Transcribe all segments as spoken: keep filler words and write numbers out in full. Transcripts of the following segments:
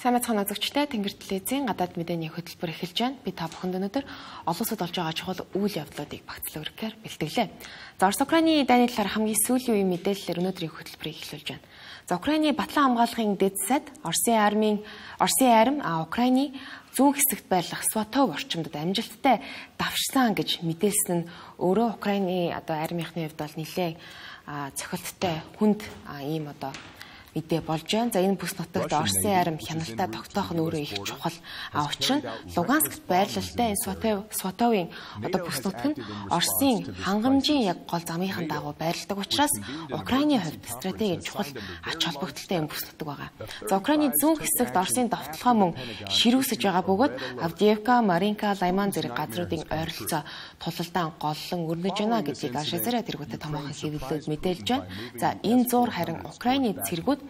Сайн мэцхан үзэгчдээ Тэнгэр телевизийн гадаад мэдээний хөтөлбөр эхэлж байна. Би та бүхэнд өнөөдөр олон улсад болж байгаа чухал үйл явдлуудыг багцлан өргөхөөр бэлтгэлээ. За Орос Украины дайны талаар хамгийн сүүлийн үеийн мэдээллээр өнөөдрийн хөтөлбөрийг эхлүүлж байна. За Украины батлан хамгаалахын дэд сайд Оросын армийн Оросын арми а Украины зүүн хэсэгт байрлах Сватов орчимдод амжилттай давшсан гэж мэдээлсэн нь өөрөө Украины одоо армийнхны хувьд бол нэлээд цохилттой хүнд ийм одоо мэдээ болж байна. За энэ бүс нутагт Оросын арми хяналтаа тогтоох нь өөрөө их чухал. А учир нь Луганскт байрлалтай энэ Сватов Сватовын одоо бүс нутаг нь Оросын хангамжийн яг гол замынхан дагуу байрладаг учраас Украины хувьд стратегийн чухал ач холбогдолтой энэ бүс нутаг байгаа. За Украины зүүн хэсэгт Оросын довтлогоо мөн ширүүсэж байгаа бөгөөд Авдеевка, Маринка, Лайман зэрэг газруудын ойролцоо тулалдаан голлон өрнөж байна гэдгийг Ашазара тэргүүтээ томоохон хэвлэлүүд мэдээлж байна. За энэ зуур харин Украины цэргүүд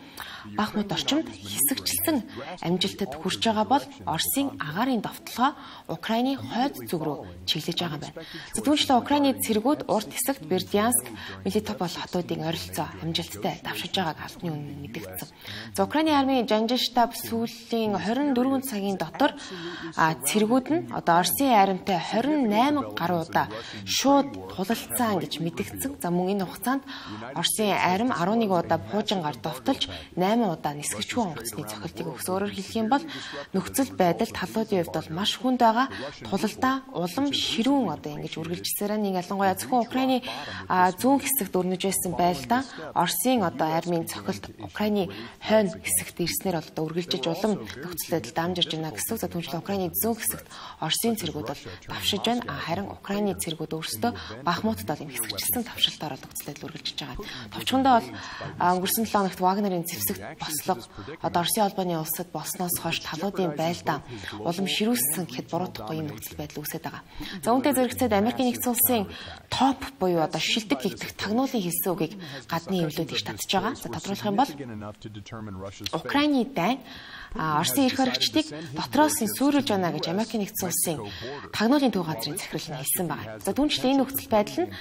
Бахмут орчимд хэсэгчлсэн амжилтад хүрч байгаа бол Оросын агаарын довтлогоо Украины хойд зүг рүү чиглэж байгаа байна. За түүнчлэн Украины цэргүүд урт хэсэгт Бердянск, Мелитополь хотуудын ойролцоо амжилттай давшиж байгааг албаны өмнө мэдэгдсэн. За Украины армийн жанжин штаб сүүлийн хорин дөрвөн цагийн дотор цэргүүд нь одоо Оросын армитай хорин найман гаруй удаа шууд тулалдсан гэж мэдэгдсэн. За мөн энэ хугацаанд Оросын арми арван нэг удаа буужингаар довтолж найман удаа нисгчгүй онгоцны цохилтыг өгс. Өөрөөр хэлэх юм бол нөхцөл байдал талуудын хувьд бол маш хүнд байгаа. Тулалдаа улам ширүүн одоо ингэж үргэлжсээр нэг ялангуяа зөвхөн Украины зүүн хэсэгт өрнөж байсан байлдаа Оросын одоо армийн цохилт Украины хойно хэсэгт ирснээр одоо үргэлжиж улам нөхцөл байдал дамжирж байна гэсэн. За түүнчлэн Украины зүүн хэсэгт Оросын цэргүүд бол давшиж байна. Харин Украины цэргүүд өөрсдөө Бахмутд бол юм хэсэгчлсэн давшилтаар нөхцөл байдал үргэлжиж байгаа. Товчхондоо бол өнгөрсөн седем хоногт Вагнерын зэвсэгт бослого одоо Оросын албаны улсад болсноос хойш талуудын байлдаа улам ширүүссэн гэхэд буруудахгүй юм нөхцөл байдал үүсэж байгаа. За үүнтэй зэрэгцээд Америкийн нэгдсэн улсын топ буюу одоо шилдэг гэгдэх тагнуулын хэлсэн үгийг гадны эвлүүд их татж байгаа. За тодруулах юм бол Украины дайн Оросын эрх баригчдыг дотроос нь сүйрүүлж байна гэж Америкийн нэгдсэн улсын тагнуулын төв газрын захирал нь хэлсэн байна. За түүнчлэн энэ нөхцөл байдал нь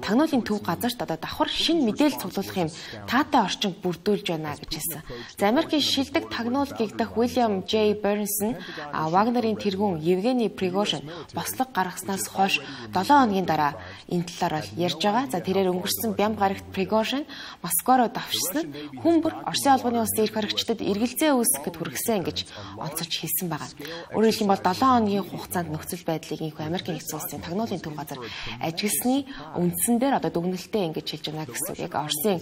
тагнуулын төв газарт одоо давхар шинэ мэдээлэл цуглуулах юм таатай орчин бүрдүүлж байна гэж хэлсэн. За Америкийн шилдэг тагнуул гэгдэх Уильям J. Burns нь Вагнерийн тэргүүн Евгений Пригожин бослого гаргаснаас хойш долоон хоногийн дараа энэ талаар бол ярьж байгаа. За тэрээр өнгөрсөн бям гарагт Пригожин Москва руу давшсан нь хүн бүр Оросын албаны улсын эрх баригчдад эргэлзээ үүсгэхэд хүргэсэн гэж онцолж хэлсэн байгаа. Өөрөөр хэлбэл бол долоон хоногийн хугацаанд нөхцөл байдлыг инхүү Америкийн нэгдсэн улсын тагнуулын төв газар ажигласны үндсэн дээр одоо дүгнэлтээ ингэж хэлж байна гэсэн. Яг Оросын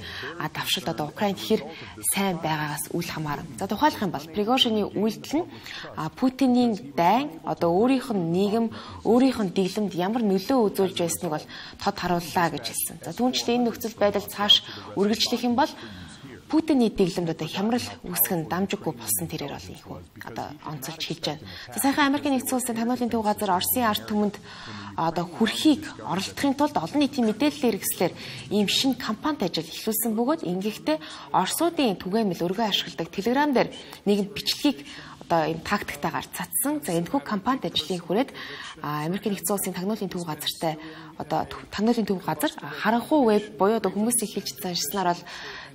давшилт одоо Украинд хэр сайн байгаагаас үл хамааран. За тухайлах юм бол Пригожины үйлдэл нь Путиний дайн одоо өөрийнх нь нийгэм, өөрийнх нь дэглэмд ямар нөлөө үзүүлж байсныг бол тод харууллаа гэж хэлсэн. За түүнчлэн энэ нөхцөл байдал цааш үргэлжлэх юм бол Путиний дэглэмд одоо хямрал үүсгэн дамжиггүй болсон тэрээр бол ийхүү одоо онцолж хэлж байна. За сайхан Америкийн нэгдсэн улсын тагнуулын төв газар Оросын ард түмэнд одоо хүрхийг оролдохын тулд олон нийтийн мэдээллийн хэрэгслэр ийм шинэ кампанит ажил эхлүүлсэн бөгөөд ингэхдээ Оросуудын түгээмэл өргөө ашигладаг Telegram дээр нэгэн бичлэгийг одоо ийм тактиктаагаар цацсан. За энэхүү кампанит ажлын хүрээд Америкийн нэгдсэн улсын тагнуулын төв газартай одоо тагнуулын төв газар харанхуй веб буюу одоо хүмүүсийн хэлж заншснаар бол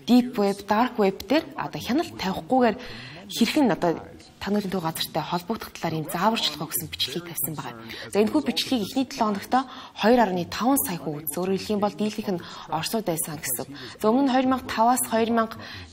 deep web, dark web дээр одоо хяналт тавихгүйгээр хэрхэн одоо тагнуулын төв газартай холбогдох талаар ийм зааварчилгаа өгсөн бичлэгийг тавьсан байгаа. За энэхүү бичлэгийг эхний долоо хоногт two point five сая хүн үзсэн. Өөрөөр хэлэх юм бол дийлэнх нь Оросууд байсан гэсэн. За өмнө нь two thousand five-аас two thousand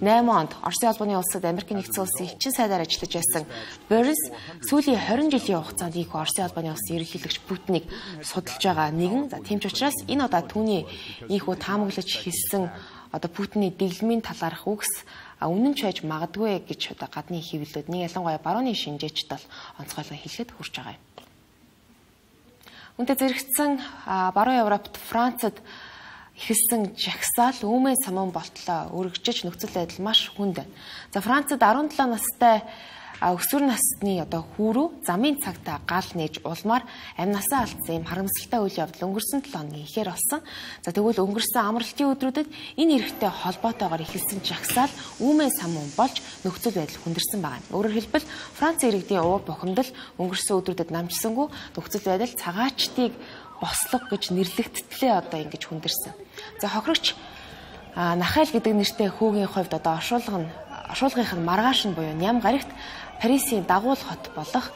eight онд Оросын албаны улсад Америкийн нэгдсэн улсын хүчин сайдаар ажиллаж байсан Burns сүүлийн twenty жилийн хугацаанд их Оросын албаны улсын ерөнхийлөгч Путинийг судалж байгаа нэгэн. За тийм ч учраас энэ удаа түүний ийхүү таамаглаж хэлсэн одоо Путиний дэглэмийн талаарх үгс үнэн ч байж магадгүй гэж одоо гадны хэвлэлүүд нэг ялангуяа барууны шинжээчд бол онцгойлон хэлэхэд хүрч байгаа юм. Үүнтэй зэрэгцсэн баруун Европт Францад эхэлсэн жагсаал үүмэн самун болтлоо өргөжж нөхцөл байдал маш хүнд байна. За Францад seventeen настай өсвөр насны одоо хүүрүү замын цагтаа гал нээж улмаар амнасаа алдсан юм харамсалтай үйл явдал өнгөрсөн seven хоногийн ихээр болсон. За тэгвэл өнгөрсөн амралтын өдрүүдэд энэ эрхтэй холбоотойгоор эхэлсэн жагсаал үүмэн самун болж нөхцөл байдал хүндэрсэн байна. Өөрөөр хэлбэл Франц иргэдийн уур бухимдал өнгөрсөн өдрүүдэд намжсангүй нөхцөл байдал цагаачдыг бослого гэж нэрлэгдтлээ одоо ингэж хүндэрсэн. За хохирогч Нахайл гэдэг нэртэй хүүгийн хувьд одоо оршуулга нь оршуулгынх нь маргааш нь буюу ням гарагт Парисын дагуул хот болох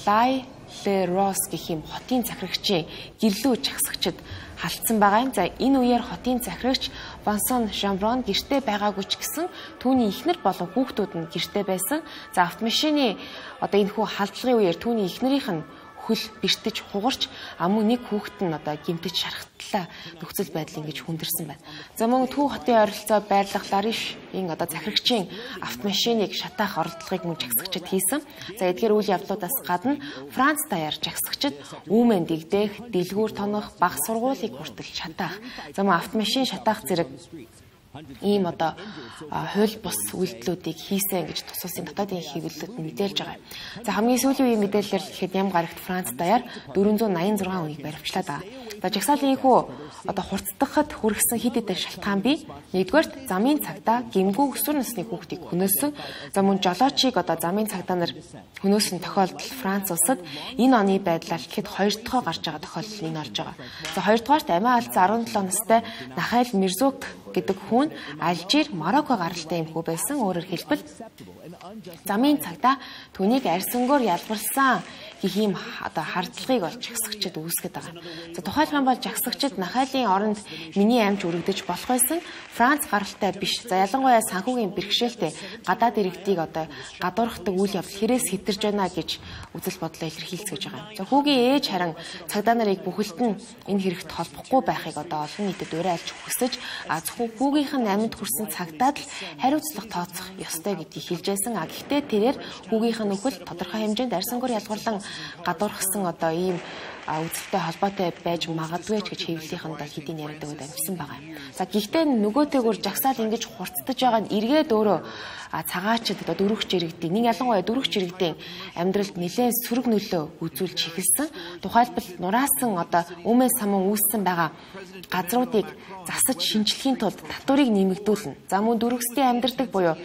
Лай Ле Рос гэх юм хотын захирагчийн гэрлүү жагсагчид халтсан байгаа юм. За энэ үеэр хотын захирагч Вансон Шамброн гэртээ байгаагүй ч гэсэн түүний эхнэр болон хүүхдүүд нь гэртээ байсан. За автомашины одоо энэ хүү халдлагын үеэр түүний эхнэрийнх нь хөл бэртэж хугарч амун нэг хүүхэд нь одоо гимтэж шархтлаа нөхцөл байдал ингэж хүндэрсэн байна. За мөн Төв хотын ойролцоо байрлах Ларишийн одоо захирагчийн автомашиныг шатаах оролдлогыг мөн жагсагчид хийсэн. За эдгээр үйл явдлуудаас гадна Франц даяар жагсагчид үүмэн дэгдэх, дэлгүүр тонох, баг сургуулийг хүртэл шатаах. За мөн автомашин шатаах зэрэг ийм одоо хууль бус үйлдэлүүдийг хийсэн гэж тус улсын дотоодын хэвлэлүүд мэдээлж байгаа. За хамгийн сүүлийн үеийн мэдээлэлээр гэхэд ням гарагт Франц даяар дөрвөн зуун найман зургаан үеийг баривчлаад байгаа. За жагсаалын хүү одоо хурцдахад хүргэсэн хэд хэдэн шалтгаан бий. Нэгдүгээрт замын цагдаа гэмгүй өсвөр насны хүүхдийг хөнөөсөн. За мөн жолоочийг одоо замын цагдаа нар хөнөөсөн тохиолдол Франц улсад энэ оны байдлаар гэхэд хоёр дахь гарч байгаа тохиолдол нь орж байгаа. За хоёрдугаарт амиа алдсан арван долоо настай Нахайл Мирзук гэдэг хүн Алжир, Марокко гаралтай юм хүү байсан. Өөрөөр хэлбэл замын цагдаа түүнийг арьсангоор ялбарсан гэх юм одоо хардлагыг бол жагсагчид үүсгэж байгаа. За тухайлбал бол жагсагчид Нахайлын оронд миний амж өргөдөж болох байсан. Франц гаралтай биш. За ялангуяа санхүүгийн бэрхшээлтэй гадаад иргэдийг одоо гадуурхдаг үйл явдал хэрээс хэтэрж байна гэж үзэл бодлоо илэрхийлцгэж байгаа. За хүүгийн ээж харин цагдаа нарыг бүхэлд нь энэ хэрэгт холбохгүй байхыг одоо олон нийтэд уриалж хүсэж а зөвхөн хүүгийнх нь амьд хүрсэн цагтаад л хариуцлага тооцох ёстой гэдгийг хэлжсэн. А гэхдээ тэрээр хүүгийнх нь өхөл тодорхой хэмжээнд арьсангуур ялгарлан гадуурхсан одоо ийм үзэлтэй холбоотой байж магадгүй ч гэж хэвлэлийнхэндээ хэдийн яриадаг үед амжсан байгаа юм. За гэхдээ нөгөөтэйгүр жагсаал ингэж хурцдаж байгаа нь эргээд өөрөө цагаачд одоо дөрвөгч иргэдийн нэг ялангуяа дөрвөгч иргэдийн амьдралд нэлээд сөрөг нөлөө үзүүлж эхэлсэн. Тухайлбал нураасан одоо өмнө самун үүссэн байгаа газруудыг засаж шинжлэхийн тулд татварыг нэмэгдүүлнэ. За мөн дөрвөсдийн амьдардаг буюу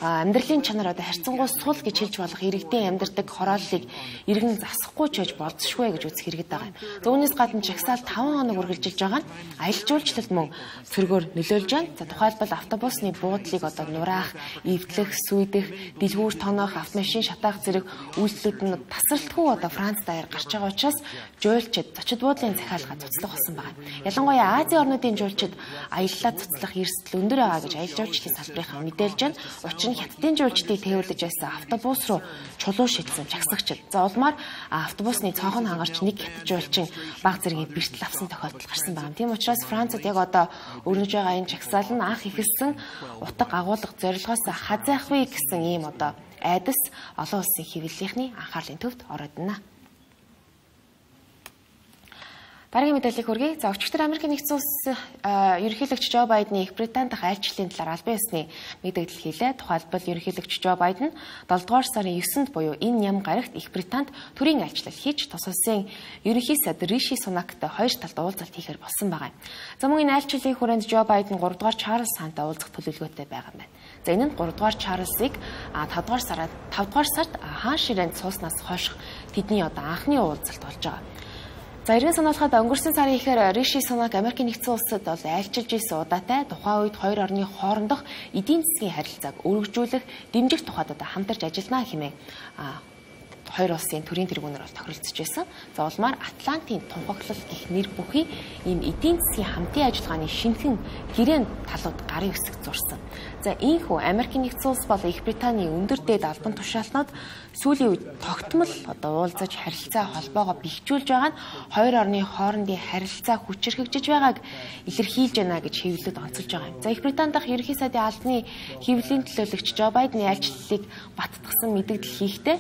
амьдралын чанар одоо харьцангуй сул гэж хэлж болох иргэдийн амьдардаг хорооллыг иргэн засахгүй ч байж болзошгүй гэж үзэх хэрэгэд байгаа юм. За үүнээс гадна жагсаал таван хоног үргэлжилж байгаа нь аялал жуулчлалд мөн цөргөөр нөлөөлж байна. За тухайлбал автобусны буудлыг одоо нураах, эвдлэх, сүйдэх, дэлгүүр тоноох, автомашин шатаах зэрэг үйлдэлүүд нь тасралтгүй одоо Франц даяар гарч байгаа учраас жуулчид зочид буудлын захиалга цуцлах болсон байгаа. Ялангуяа Азийн орнуудын жуулчид аяллаа цуцлах эрсдэл өндөр байгаа гэж аялал жуулчлалын салбарынхан мэдээлж байна. Учир нь хятадын жуулчдыг тээвэрлэж байсан автобус руу чулуу шидсэн жагсагчид. За улмаар автобусны цонхон хангарч нэг хятад жуулчин баг зэргийн бэртэл авсан тохиолдол гарсан байна. Тийм учраас Францад яг одоо өрнөж байгаа энэ жагсаал нь анх ихэлсэн утга агуулга зорилгоос хазайхгүй гэсэн ийм одоо айдас олон улсын хэвлэлийнхний анхаарлын төвд ороод байна. Дараагийн мэдээллийг хүргэе. За өчигдөр Америкийн нэгдсэн улс ерөнхийлөгч Жо Байдны Их Британи дахь айлчлалын талаар албан ёсны мэдээлэл хийлээ. Тухайлбал ерөнхийлөгч Жо Байден долдугаар сарын есэнд буюу энэ ням гарагт Их Британд төрийн айлчлал хийж тус улсын ерөнхий сайд Риши Сунактай хоёр талд уулзалт хийхээр болсон байгаа юм. За мөн энэ айлчлалын хүрээнд Жо Байден гуравдугаар Чарльз хаантай уулзах төлөвлөгөөтэй байгаа юм байна. За энэ нь гуравдугаар Чарльзыг тавдугаар сард тавдугаар сард хаан ширээнд сууснаас хойш тэдний одоо анхны уулзалт болж байгаа. За иргэн санаалахад өнгөрсөн сарын ихээр Риши Сунак Америкийн нэгдсэн улсад бол айлчилж ирсэн удаатай тухайн үед хоёр орны хоорондох эдийн засгийн харилцааг өргөжүүлэх, дэмжих тухайд одоо хамтарч ажиллана хэмээн хоёр улсын төрийн тэргүүнээр бол тохиролцож байсан. За улмаар Атлантын тунхаглал гэх нэр бүхий ийм эдийн засгийн хамтын ажиллагааны шинэхэн гэрээнд талууд гарын үсэг зурсан. За ийхүү Америкийн нэгдсэн улс бол Их Британий өндөр дээд албан тушаалтнууд сүүлийн үед тогтмол одоо уулзаж харилцаа холбоогоо бэхжүүлж байгаа нь хоёр орны хоорондын харилцаа хүчирхэгжиж байгааг илэрхийлж байна гэж хэвлэлд онцолж байгаа юм. За Их Британи дахь ерөнхий сайдын албаны хэвлэлийн төлөөлөгч Жо Байдны айлчлалыг баттгсан мэдээлэл хийхдээ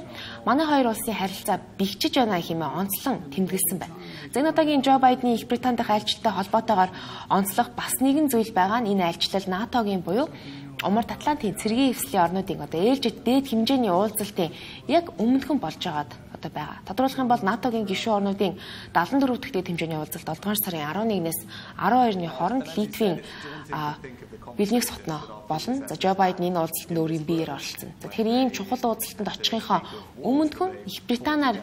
манай хоёр улсын харилцаа бэхжиж байна хэмээн онцлон тэмдэглэсэн байна. За энэ удаагийн Жо Байдны Их Британи дахь айлчлалтай холбоотойгоор онцлох бас нэгэн зүйл байгаа нь энэ айлчлал НАТОгийн буюу Умард Атлантын цэргийн эвслийн орнуудын одоо ээлжид дээд хэмжээний уулзалтын яг өмнөхөн болж байгаад одоо байгаа. Тодорхойлох юм бол НАТОгийн гишүүн орнуудын дагалдаа дөрөв дахь дээд хэмжээний уулзалт долдугаар сарын арван нэгнээс арван хоёрны хооронд Литвийн Вилнюс хотноо болно. За Жо Байден энэ уулзалтанд өөрийн биеэр оролцсон. За тэгэхээр ийм чухал уулзалтанд очихынхоо өмнөхөн Их Британаар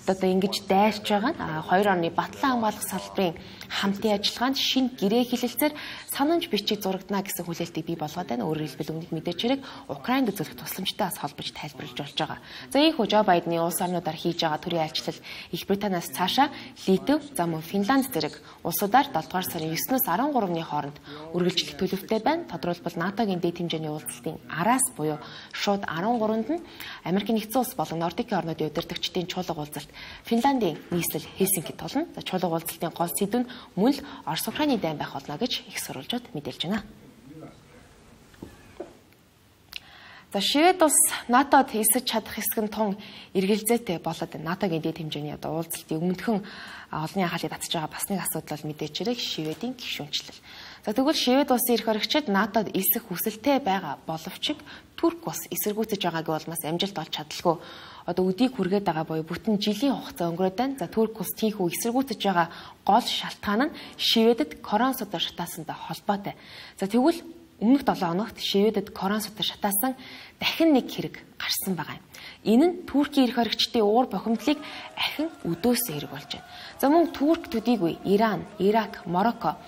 одоо ингэж дайрч байгаа нь хоёр орны батлан хамгаалах салбарын хамтын ажиллагаанд шинэ гэрээ хэлэлцээр санамж бичиг зурагдана гэсэн хүлээлтийг бий болгоод байна. Өөрөөр хэлбэл өмнөд мэдээч хэрэг Украинд үзүүлэх тусламжтай бас холбож тайлбарлаж болж байгаа. За ийхүү Жо Байдны улс орнуудаар хийж байгаа төрийн айлчлал Их Британаас цаашаа Литв, за мөн Финланд зэрэг улсуудаар долдугаар сарын еснээс арван гуравны хооронд үргэлжлэх төлөвтэй байна. Тодорхойлбол НАТОгийн дэд хэмжээний уулзалтын араас буюу шууд арван гуравнд нь Америкийн нэгдсэн улс болон Нордикийн орнуудын удирдагчдын чуулга уулзалт Финландийн нийслэл Хельсинкид болно. За чуулга уулзалтын гол сэдэв нь мөн л Орос Украины дайн байх болно гэж их сурвалжууд мэдээлж байна. За Швед улс НАТОд эсэж чадах хэсэг нь тун эргэлзээтэй болоод НАТОгийн дэд хэмжээний одоо уулзалтын өмнөхөн олонний анхаалыг татж байгаа бас нэг асуудал бол мэдээж хэрэг Шведийн гишүүнчлэл. За тэгвэл Швед улсын эрх баригчид НАТОд эсэх хүсэлтэй байгаа боловч Турк улс эсэргүүцэж байгааг бол бас амжилт олж чадлаггүй. Одоо өдийг хүргээд байгаа буюу бүтэн жилийн хугацаа өнгөрөөд байна. За Турк улс тийхүү эсэргүүцэж байгаа гол шалтгаан нь Шведэд корон судар шатаасантай холбоотой. За тэгвэл өмнөх долоо хоногт Шведэд корон судар шатаасан дахин нэг хэрэг гарсан байгаа юм. Энэ нь Туркийн эрх баригчдын уур бухимдлыг ахин өдөөсөө хэрэг болж байна. За мөн Турк төдийгүй Иран, Ирак, Марокко,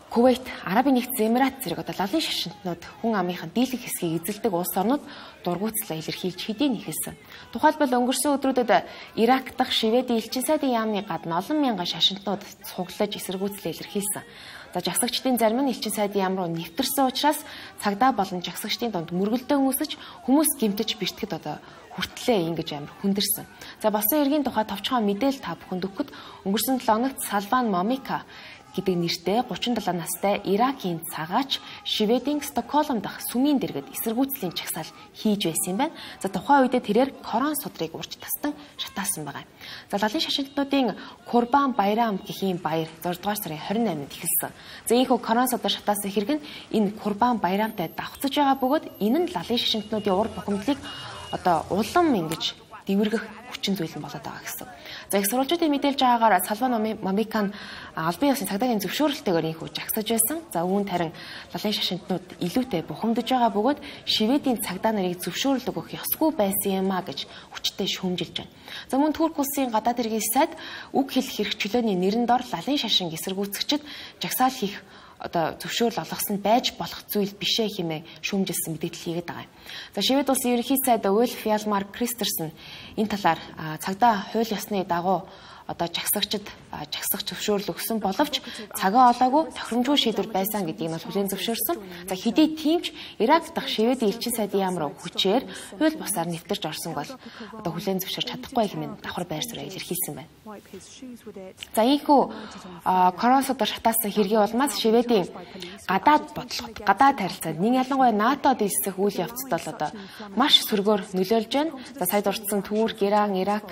Кувейт, Арабын нэгдсэн Эмират зэрэг одоо лалын шашинтнууд хүн амынхаа дийлэнх хэсгийг эзэлдэг улс орнууд дургуутслаа илэрхийлж хэдийн нэхэлсэн. Тухайлбал өнгөрсөн өдрүүдэд Ирак дахь Шведийн элчин сайдын яамны гадна олон мянган шашинтнууд цуглаж эсэргүүцлээ илэрхийлсэн. За жагсагчдын зарим нь элчин сайдын яам руу нэвтэрсэн учраас цагдаа болон жагсагчдын дунд мөргөлдөө үүсэж хүмүүс гэмтэж бэртгэд одоо хүртлээ ингэж амар хүндэрсэн. За болсон эргийн тухай товчхон мэдээлэл та бүхэнд өгөхөд өнгөрсөн долоо хоногт Салван Момика гэдэг нэртэй гучин долоо настай Иракийн цагаач Шведийн Стокгольм дахь сүмийн дэргэд эсэргүүцлийн чагсаал хийж байсан юм байна. За тухайн үедээ тэрээр корон судрыг урьж тастан шатаасан байгаа. За лалын шашинтнуудын Курбан Байрам гэхийн баяр зургаадугаар сарын хорин найманд эхэлсэн. За ийхүү корон судар шатаасан хэрэг нь энэ Курбан Байрамтай давхцаж байгаа бөгөөд энэ нь лалын шашинтнуудын ур бухимдлыг одоо улам ингэж дэвэргэх хүчин зүйл нь болоод байгаа гэсэн. За их сурвалжуудын мэдээлж байгаагаар Салван Момикан албан ёсны цагдаагийн зөвшөөрөлтөөр инхүү жагсаж байсан. За үүнд харин лалын шашинтнууд илүүтэй бухимдаж байгаа бөгөөд Шведийн цагдаа нарыг зөвшөөрөл өгөх ёсгүй байсан юм а гэж хүчтэй шүүмжилж байна. За мөн Турк улсын гадаад хэргийн сайд үг хэлэх эрх чөлөөний нэрэн дор лалын шашин эсэргүүцэгчид жагсаал хийх одоо зөвшөөрөл олгосон байж болох зүйл бишээ хэмээн шүүмжилсэн мэдээлэл хийгээд байгаа юм. За Швед улсын ерөнхий сайд Ульф Ялмар Кристерсен энэ талаар цагдаа хууль ёсны дагуу одоо жагсагчид жагсах зөвшөөрөл өгсөн боловч цагаа олоогүй тохиромжгүй шийдвэр байсан гэдгийг нь хүлээн зөвшөөрсөн. За хэдий тиймч Ирак дахь Шведийн элчин сайдын яам руу хүчээр хууль бусаар нэвтэрч орсон бол одоо хүлээн зөвшөөрч чадахгүй хэмээн давхар байр суурь илэрхийлсэн байна. За ийхүү корон судар шатаасан хэргийн улмаас Шведийн гадаад бодлогод гадаад харилцаанд нэг ялангуяа НАТОд элсэх үйл явцад бол одоо маш сөргөөр нөлөөлж байна. За сая дурдсан Турк, Иран, Ирак,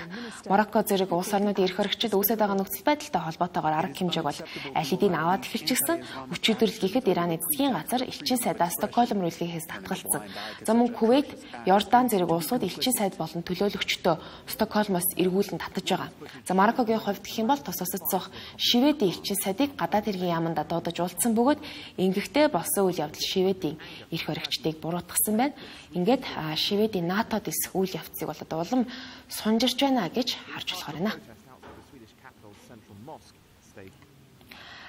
Марокко зэрэг улс орнуудын эрх баригчид үүсэж байгаа нөхцөл байдалтай холбоотойгоор арга хэмжээг бол аль хэдийн аваад эхэлчихсэн. Өчигдөр гэхэд Ираны засгийн газар элчин сайдаа Стокгольм руу илгээхээс татгалцсан. За мөн Кувейт, Йордан зэрэг улсууд элчин сайд болон төлөөлөгчдөө Стокгольмоос эргүүлэн татаж байгаа. За Мароккогийн хувьд гэх юм бол тус усад суух Шведийн элчин сайдыг гадаад хэргийн яаманд дуудаж уулзсан бөгөөд ингэхдээ болсон үйл явдал Шведийн эрх баригчдыг буруутгасан байна. Ингээд Шведийн НАТОд эсэх үйл явцыг бол одоо улам сунжирч байна гэж харж болохоор байна.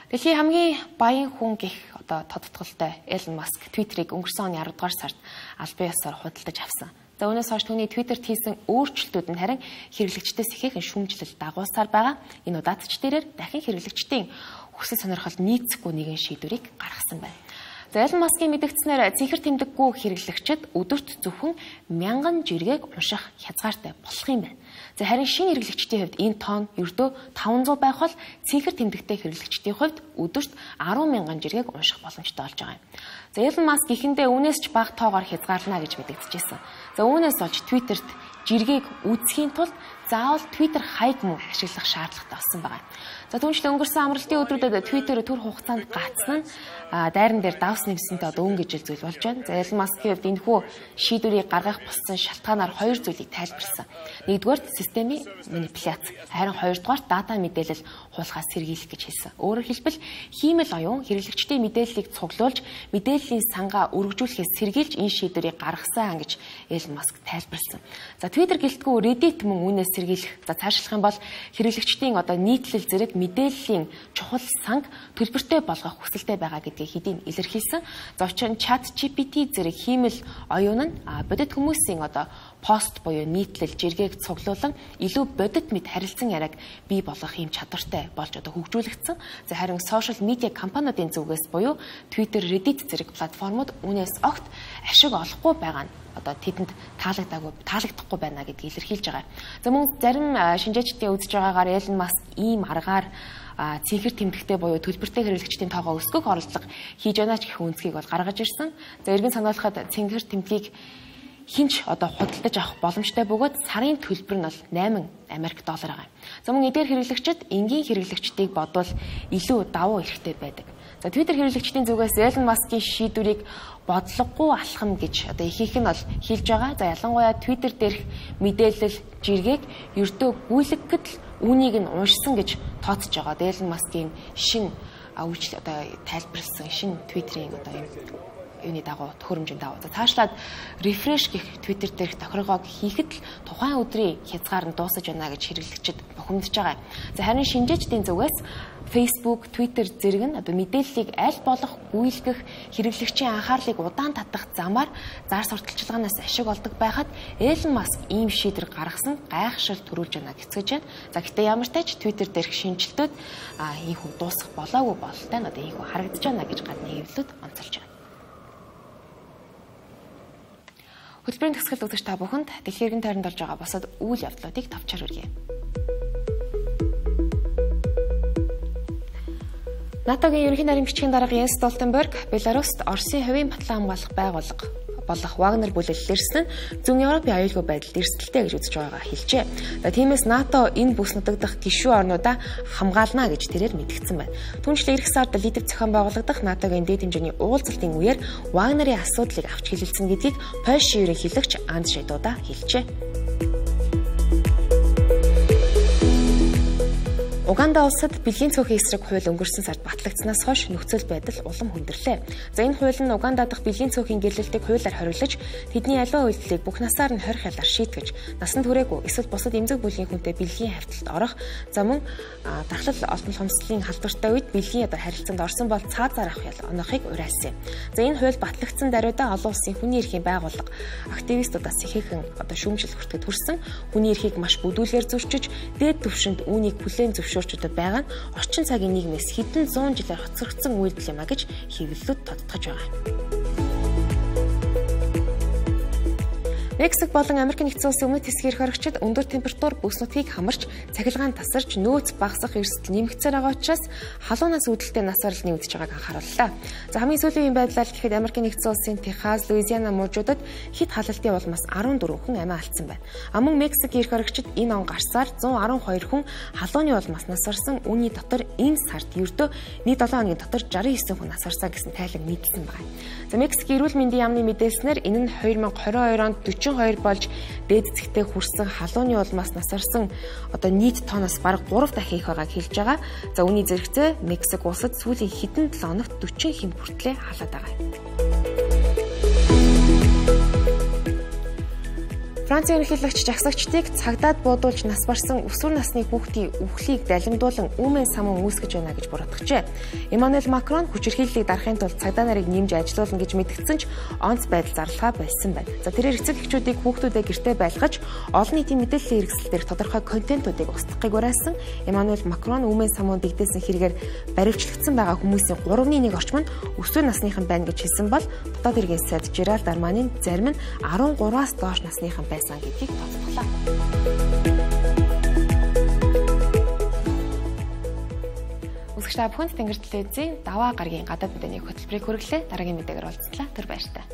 Дэлхийн хамгийн баян хүн гэх одоо тодтголтой Элон Маск Твиттерийг өнгөрсөн оны аравдугаар сард албан ёсоор худалдаж авсан. За үүнээс хойш түүний Твиттерт хийсэн өөрчлөлтүүд нь харин хэрэглэгчдээс ихээхэн шүүмжлэл дагуулсаар байгаа. Энэ удаацч дээрээр дахин хэрэглэгчдийн хүсэл сонирхол нийцэхгүй нэгэн шийдвэрийг гаргасан байна. За Элон Маскийн мэдгдснээр цэнхэр тэмдэггүй хэрэглэгчид өдөрт зөвхөн мянган жиргэг унших хязгаартай болох юм байна. За харин шинэ хэрэглэгчдийн хувьд энэ тоон ердөө таван зуун байх бол цэнхэр тэмдэгтэй хэрэглэгчдийн хувьд өдөрт арван мянган жиргэг унших боломжтой болж байгаа юм. За Элон Маск ихэндээ үүнээс ч бага тоогоор хязгаарлана гэж мэдэгдэжсэн. За үүнээс болж Твиттерт жиргэг үүсгэхийн тулд заавал Twitter хайг мөн ашиглах шаардлагатай болсон байна. За түүнчлэн өнгөрсөн амралтын өдрүүдэд Twitter төр хугацаанд гацсан нь дайран дээр давс нэмсэнтэй одоо өнгө ижил зүйл болж байна. За Elon Musk-ийн хувьд энэхүү шийдвэрийг гаргах болсон шалтгаанаар хоёр зүйлийг тайлбарласан. Нэгдүгээр системийн манипуляц, харин хоёрдугаар дата мэдээлэл хулгаас сэргийлэх гэж хэлсэн. Өөрөөр хэлбэл хиймэл оюун хэрэглэгчдийн мэдээллийг цуглуулж мэдээллийн сангаа өргөжүүлэхээс сэргийлж энэ шийдвэрийг гаргасан гэж Elon Musk тайлбарласан. За Twitter гэлтгүй Reddit мөн үүнээс сэргийлэх. За цаашлах юм бол хэрэглэгчдийн одоо нийтлэл зэрэг мэдээллийн чухал санг төлбөртэй болгох хүсэлтэй байгаа гэдгийг хэдийн илэрхийлсэн. За учир нь ChatGPT зэрэг хиймэл оюун нь бодит хүмүүсийн одоо пост буюу нийтлэл жиргэг цуглуулан илүү бодит мэд харилцан яриаг бий болгох юм чадвартай болж одоо хөгжүүлэгдсэн. За харин сошиал медиа компаниудын зүгээс буюу Twitter, Reddit зэрэг платформуд үүнээс огт ашиг олохгүй байгаа нь одоо тэдэнд таалагдаагүй таалагдахгүй байна гэдгийг илэрхийлж байгаа. За мөн зарим шинжээчдийн үзэж байгаагаар Elon Musk ийм аргаар цэнхэр тэмдэгтэй буюу төлбөртэй хэрэглэгчдийн тоогоо өсгөх оролдлого хийж байна ч гэх үнцгийг бол гаргаж ирсэн. За эргэн сануулхад цэнхэр тэмдгийг хинч одоо худалдаж авах боломжтой бөгөөд сарын төлбөр нь бол найман Америк доллар байгаа. За мөн эдгээр хэрэглэгчид энгийн хэрэглэгчдийг бодвол илүү давуу эрхтэй байдаг. За Twitter хэрэглэгчдийн зүгээс Elon Musk-ийн шийдвэрийг бодлогогүй алхам гэж одоо ихэнх нь бол хэлж байгаа. За ялангуяа Twitter дээрх мэдээлэл жиргэг ердөө гүйлгэхэд л үүнийг нь уншсан гэж тооцож байгаа. Elon Musk-ийн шин үйлчлэл одоо тайлбарласан шин Twitter-ийн одоо юм юуны дагуу төхөөрөмжийн дагуу. За цаашлаад refresh гэх Twitter дээрх тохиргоог хийхэд л тухайн өдрийн хязгаар нь дуусаж байна гэж хэрэглэгчид бухимдаж байгаа. За харин шинжээчдийн зүгээс Facebook, Twitter зэрэг нь одоо мэдээллийг аль болох гүйлгэх хэрэглэгчийн анхаарлыг удаан татах замаар зар сурталчилгаанаас ашиг олдог байхад Elon Musk ийм шийдвэр гаргасан гайхшил төрүүлж байна гэцгэж байна. За гэхдээ ямар ч тач Twitter дээрх шинжилтүүд ийхүү дуусах болоогүй бололтой нь одоо ийхүү харагдаж байна гэж гадны хэвлэлүүд онцолж байна. Хөтөлбөрийн төгсгөл үзэгч та бүхэнд дэлхийн тойронд болж байгаа бусад үйл явдлуудыг товчоор хүргэе. НАТОгийн ерөнхий нарийн бичгийн дарга Йенс Столтенберг Беларуст Оросын хувийн батлан хамгаалах байгууллага болох Вагнер бүлэглэл ирсэн нь зүүн Европын аюулгүй байдалд эрсдэлтэй гэж үзэж байгаагаа хэлжээ. За тиймээс НАТО энэ бүс нутагдах гишүүн орнуудаа хамгаална гэж тэрээр мэдгдсэн байна. Түүнчлэн эх сард Литв зохион байгуулагдах НАТОгийн дээд хэмжээний уулзалтын үеэр Вагнерийн асуудлыг авч хэлэлцэн гэдгийг Польшийн ерөнхийлөгч Анджей Дуда хэлжээ. Уганда улсад бэлгийн цөөхөн эсрэг хууль өнгөрсөн сард батлагдсанаас хойш нөхцөл байдал улам хүндрэлээ. За энэ хууль нь Уганда дахь бэлгийн цөөхөн гэрлэлтийг хуулиар хориглож тэдний аливаа үйлдэлийг бүх насаар нь хорих ялаар шийтгэж насан туршаагүй эсвэл бусад эмзэг бүлгийн хүнтэй бэлгийн хавьталд орох за мөн дахлал олдон хомсдлын халдвартай үед бэлгийн одоо харилцаанд орсон бол цаазаар авах ял оноохыг уриалсан. За энэ хууль батлагдсан даруйдаа олон улсын хүний эрхийн байгууллага активистуудаас ихээхэн одоо шүүмжил хүртэхэд хүрсэн хүний эрхийг маш бүдүүлгээр зөрчиж дээд түвшинд үүнийг хүлээн зөвшөөрчдөд байгаа нь орчин цагийн нийгмээс хэдэн зуун жилээр хоцрогдсон үйлдэл юм а гэж хэвлэлүүд тодтогч байгаа. Мексик болон Америк нэгдсэн улсын өмнөд хэсгийн эрх хоригчид өндөр температур бүс нутгийг хамарч цахилгаан тасарч нөөц багасах эрсдэл нэмэгдсээр байгаа учраас халуунаас үүдэлтэй нас орлын үүдэж байгааг анхаарууллаа. За хамгийн сүүлийн үеийн байдлаар гэхэд Америк нэгдсэн улсын Техас, Луизиана мужуудад хит халалтын улмаас арван дөрвөн хүн амиа алдсан байна. А мөн Мексик эрх хоригчид энэ он гарсаар зуун арван хоёр хүн халууны улмаас нас орсон. Үүний дотор энэ сард ердөө нийт долоон хоногийн дотор жаран есөн хүн нас орсон гэсэн тайлаг мэдсэн байна. За Мексик эрүүл мэндийн яамны мэдээлснээр энэ нь две тысячи двадцать two онд forty-two болж дээд цэгтээ хүрсэн халууны улмаас нас орсон одоо нийт тооноос бараг three дахин их байгааг хэлж байгаа. За үүний зэрэгцээ Мексик улсад сүүлийн хэдэн seven хоногт forty хэм хүртлээр халаад байгаа юм. Францын ерөнхийлөгч жагсагчдыг цагдаад буудуулж нас барсан өсвөр насны хүүхдийн үхлийг далимдуулан үүмэн самун үүсгэж байна гэж буруутгажээ. Эммануэль Макрон хүчирхийллийг дарахын тулд цагдаа нарыг нэмж ажилуулна гэж мэдгдсэн ч онц байдал зарлахаа болсон байна. За тэрээр эцэг эхчүүдийг хүүхдүүдээ гэртээ байлгаж олон нийтийн мэдээллийн хэрэгсэл дээрх тодорхой контентуудыг устгахыг уриалсан. Эммануэль Макрон үүмэн самун дэгдээсэн хэрэгээр баривчлагдсан байгаа хүмүүсийн three one орчим нь өсвөр насныхан байна гэж хэлсэн бол дотоод хэргийн сайд Жеральд Арманийн зарим нь thirteen-аас доош насныхан байсан гэдгийг тооцоолоо. Үзэгч та бүхэнд Тэнгэр телевизийн даваа гарагийн гадаад мэдээний хөтөлбөрийг хүргэлээ. Дараагийн мэдээгээр уулзлаа. Түр баярлалаа.